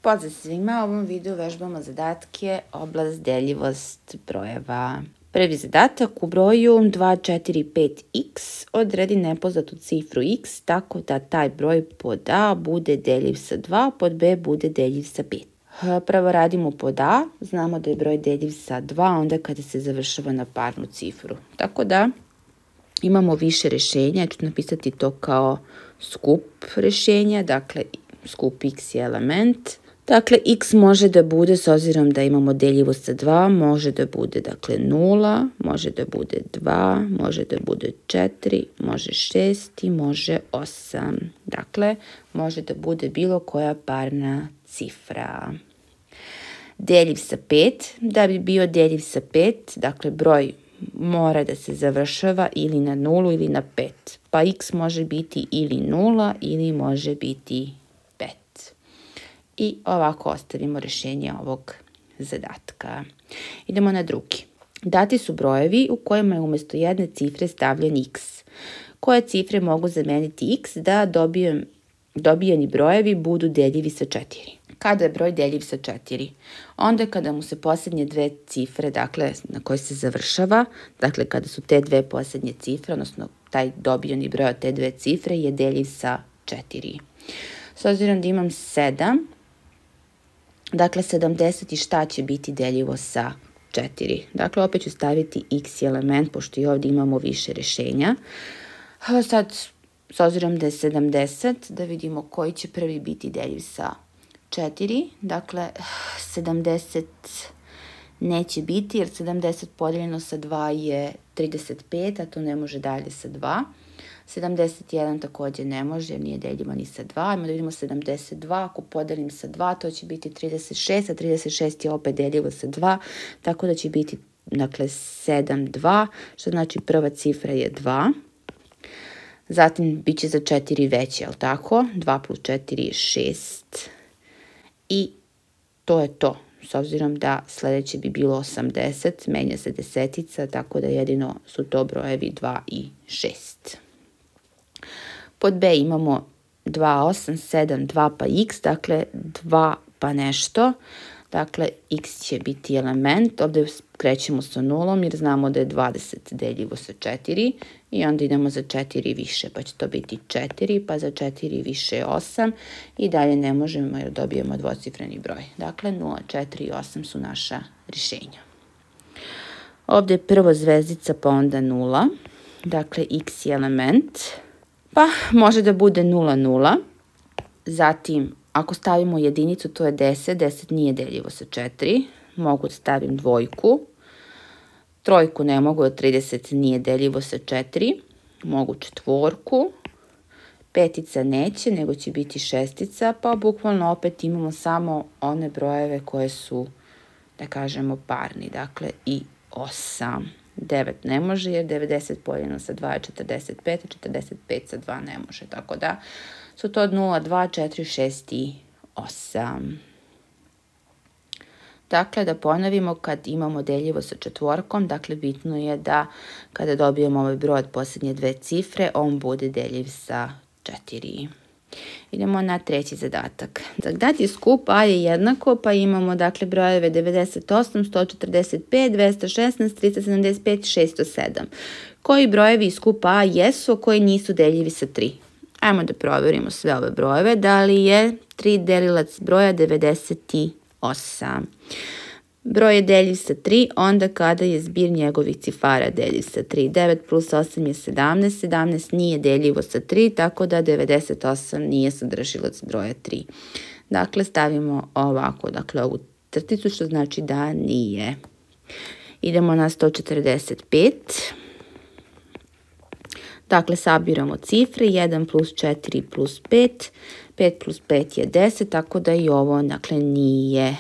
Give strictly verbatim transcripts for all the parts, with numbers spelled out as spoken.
Pozdrav svima, u ovom videu vežbamo zadatke oblast deljivost brojeva. Prvi zadatak: u broju dva, četiri, pet x odredi nepoznatu cifru x tako da taj broj pod a bude deljiv sa dva, pod b bude deljiv sa pet. Prvo radimo pod a, znamo da je broj deljiv sa dva onda kada se završava na parnu cifru. Tako da imamo više rješenja, ja ću napisati to kao skup rješenja, dakle skup x je element. Dakle, x može da bude, s obzirom da imamo deljivost sa dva, može da bude dakle nula, može da bude dva, može da bude četiri, može šest i može osam. Dakle, može da bude bilo koja parna cifra. Deljiv sa pet, da bi bio deljiv sa pet, dakle broj mora da se završava ili na nulu ili na pet. Pa x može biti ili nula ili može biti pet. I ovako ostavimo rješenje ovog zadatka. Idemo na drugi. Dati su brojevi u kojima je umjesto jedne cifre stavljen x. Koje cifre mogu zameniti x da dobijem, dobijeni brojevi budu deljivi sa četiri? Kada je broj deljiv sa četiri? Onda kada mu se posljednje dve cifre, dakle na koje se završava, dakle kada su te dve posljednje cifre, odnosno taj dobijeni broj od te dve cifre je deljiv sa četiri. S obzirom da imam sedam, dakle sedamdeset i šta će biti deljivo sa četiri? Dakle, opet ću staviti x element, pošto i ovdje imamo više rješenja. Sad, s obzirom da je sedamdeset, da vidimo koji će prvi biti deljiv sa četiri. Dakle, sedamdeset neće biti, jer sedamdeset podijeljeno sa dva je trideset pet, a to ne može dalje sa dva. sedamdeset jedan također ne može, jer nije deljivo ni sa dva. Ajmo da vidimo sedamdeset dva, ako podelim sa dva, to će biti trideset šest, a trideset šest je opet deljivo sa dva, tako da će biti, dakle, sedam, dva, što znači prva cifra je dva. Zatim, bit će za četiri veće, jel tako? dva plus četiri je šest. I to je to. S obzirom da sljedeće bi bilo osamdeset, menja se desetica, tako da jedino su to brojevi dva i šest. Pod b imamo dva, osam, sedam, dva pa x, dakle dva pa nešto. Dakle, x će biti element, ovdje krećemo sa nulom jer znamo da je dvadeset deljivo sa četiri i onda idemo za četiri više, pa će to biti četiri, pa za četiri više je osam i dalje ne možemo jer dobijemo dvocifreni broj. Dakle, nula, četiri i osam su naša rješenja. Ovdje je prvo zvezdica pa onda nula, dakle x je element, pa može da bude nula, nula, zatim ako stavimo jedinicu, to je deset, deset nije deljivo sa četiri, mogu da stavim dvojku, trojku ne mogu, jer trideset nije deljivo sa četiri, mogu četvorku, petica neće, nego će biti šestica, pa bukvalno opet imamo samo one brojeve koje su, da kažemo, parni, dakle i osam. devet ne može, jer devedeset podijeljeno sa dva je četrdeset pet, a četrdeset pet sa dva ne može, tako da su to nula, dva, četiri, šest i osam. Dakle, da ponovimo, kad imamo deljivo sa četvorkom, dakle bitno je da kada dobijemo ovaj broj od posljednje dve cifre, on bude deljiv sa četiri. Idemo na treći zadatak. Dati skup a je jednako, pa imamo dakle brojeve devedeset osam, sto četrdeset pet, dvesta šesnaest, trista sedamdeset pet, šesto sedam. Koji brojevi iz skupa a jesu, a koji nisu deljivi sa tri? Ajmo da provjerimo sve ove brojeve. Da li je tri delilac broja devedeset osam? Broj je deljiv sa tri, onda kada je zbir njegovih cifara deljiv sa tri. devet plus osam je sedamnaest, sedamnaest nije deljivo sa tri, tako da devedeset osam nije sadržilac broja tri. Dakle, stavimo ovako, dakle ovu crticu, što znači da nije. Idemo na sto četrdeset pet. Dakle, sabiramo cifre, jedan plus četiri plus pet, pet plus pet je deset, tako da i ovo, dakle, nije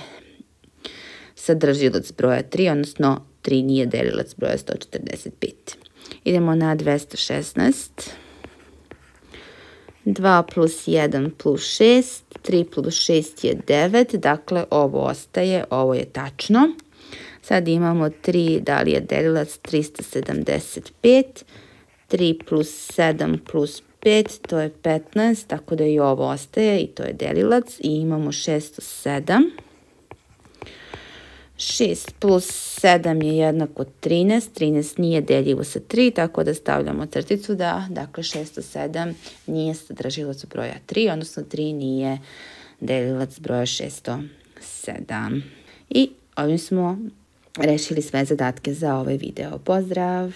sadržilac broja tri, odnosno tri nije delilac broja sto četrdeset pet. Idemo na dvesta šesnaest. dva plus jedan plus šest, tri plus šest je devet, dakle ovo ostaje, ovo je tačno. Sad imamo tri, da li je delilac trista sedamdeset pet, tri plus sedam plus pet, to je petnaest, tako da i ovo ostaje i to je delilac i imamo šesto sedam. šest plus sedam je jednako trinaest, trinaest nije deljivo sa tri, tako da stavljamo crticu da, dakle, šesto sedam nije sadržilac broja tri, odnosno tri nije delilac broja šesto sedam. I ovim smo rešili sve zadatke za ovaj video. Pozdrav!